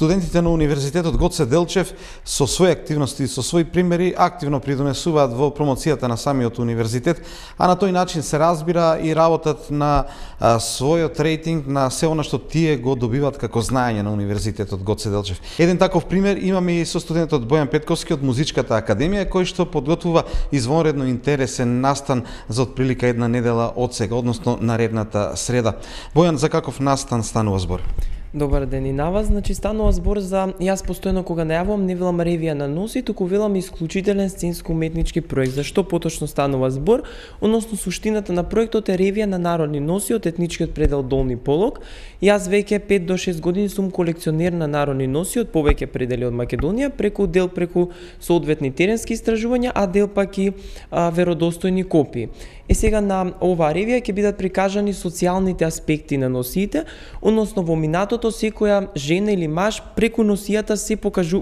Студентите на Универзитетот Гоце Делчев со своји активности и со своји примери активно придонесуваат во промоцијата на самиот универзитет, а на тој начин се разбира и работат на својот рейтинг на се она што тие го добиваат како знаење на Универзитетот Гоце Делчев. Еден таков пример имаме и со студентот Бојан Петковски од Музичката академија, кој што подготвува извонредно интересен настан за отприлика една недела од сега, односно наредната среда. Бојан, за каков настан станува збор? Добар ден и на вас. Значи станува збор за јас постојано кога најавувам не велам ревија на носи, туку велам исклучителен сценско-уметнички проект. За што поточно станува збор? Односно суштината на проектот е ревија на народни носи од етничкиот предел Долни Полог. Јас веќе 5 до 6 години сум колекционер на народни носи од повеќе предели од Македонија, преку соодветни теренски истражувања, а дел пак и веродостојни копии. Сега на оваа ревија ќе бидат прикажани социјалните аспекти на носиите, односно во минатото секоја жена или маж преку носијата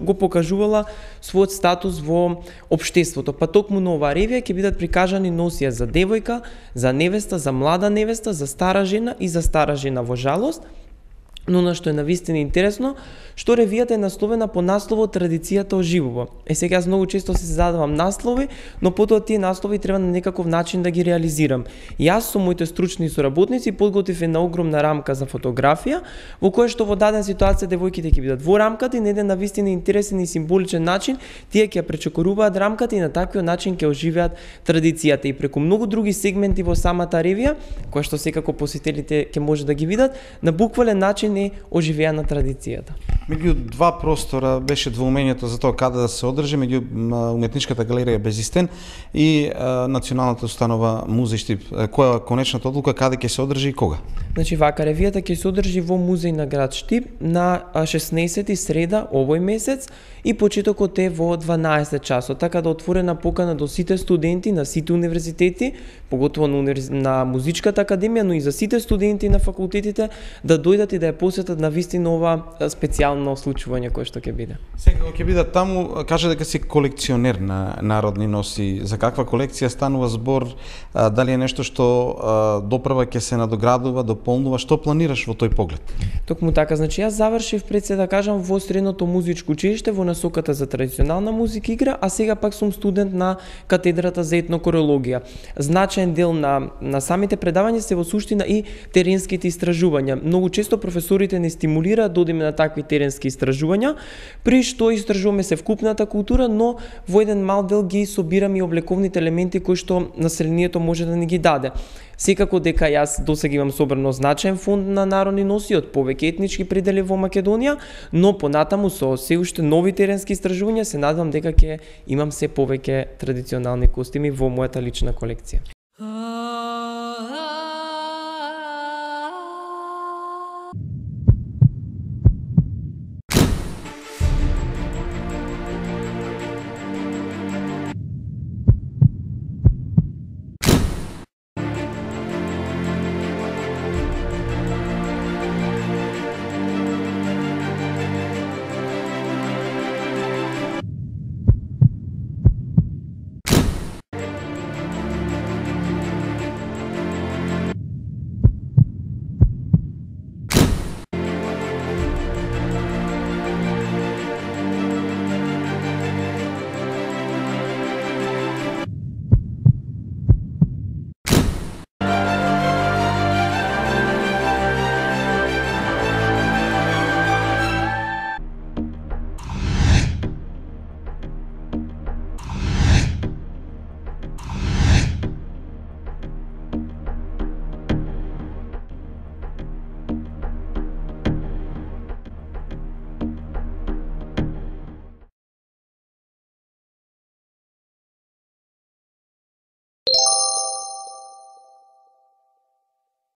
го покажувала својот статус во општеството. Па токму на оваа ревија ќе бидат прикажани носија за девојка, за невеста, за млада невеста, за стара жена и за стара жена во жалост. Но на што е навистина интересно, што ревијата е насловена по насловот Традицијата оживува. Сега јас многу често се задавам наслови, но потоа тие наслови треба на некаков начин да ги реализирам. Јас со моите стручни соработници подготвив една огромна рамка за фотографија, во која што во дадена ситуација девојките ќе бидат во рамката и на еден навистина интересен и символичен начин тие ќе ја пречекоруваат рамката и на таквиот начин ќе оживеат традицијата и преку многу други сегменти во самата ревија, која што секако посетителите ќе може да ги видат, на буквален начин е оживеана традицијата. Меѓу два простора беше двоумењето за тоа каде да се одржи, меѓу Уметничката галерија Безистен и Националната установа Музеј Штип. Која е конечната одлука, каде ќе се одржи и кога? Значи вака, ревијата ќе се одржи во Музеј на град Штип на 16 среда овој месец и почетокот е во 12 часот, така да отворена покана до сите студенти на сите универзитети, поготово на Музичката академија, но и за сите студенти на факултетите да дојдат и да ја посетат на вистина ова специјално случување кое што ќе биде. Секако ќе бидат таму, каже дека си колекционер на народни носи. За каква колекција станува збор? Дали е нешто што допрва ќе се надоградува, дополнува? Што планираш во тој поглед? Токму така, значи јас завршив пред се да кажам во средното музичко училиште во насоката за традиционална музика игра, а сега пак сум студент на катедрата за етнокорологија. Значаен дел на самите предавања се во суштина и теренските истражувања. Многу често професорите не стимулираат да одиме на такви теренски истражувања, при што истражуваме се вкупната култура, но во еден мал дел ги собираме и облековните елементи кои што населението може да ни ги даде. Секако дека јас досега имам собрано значаен фонд на народни носи од повеќе етнички предели во Македонија, но понатаму со се уште нови теренски истражувања се надевам дека ќе имам се повеќе традиционални костими во мојата лична колекција.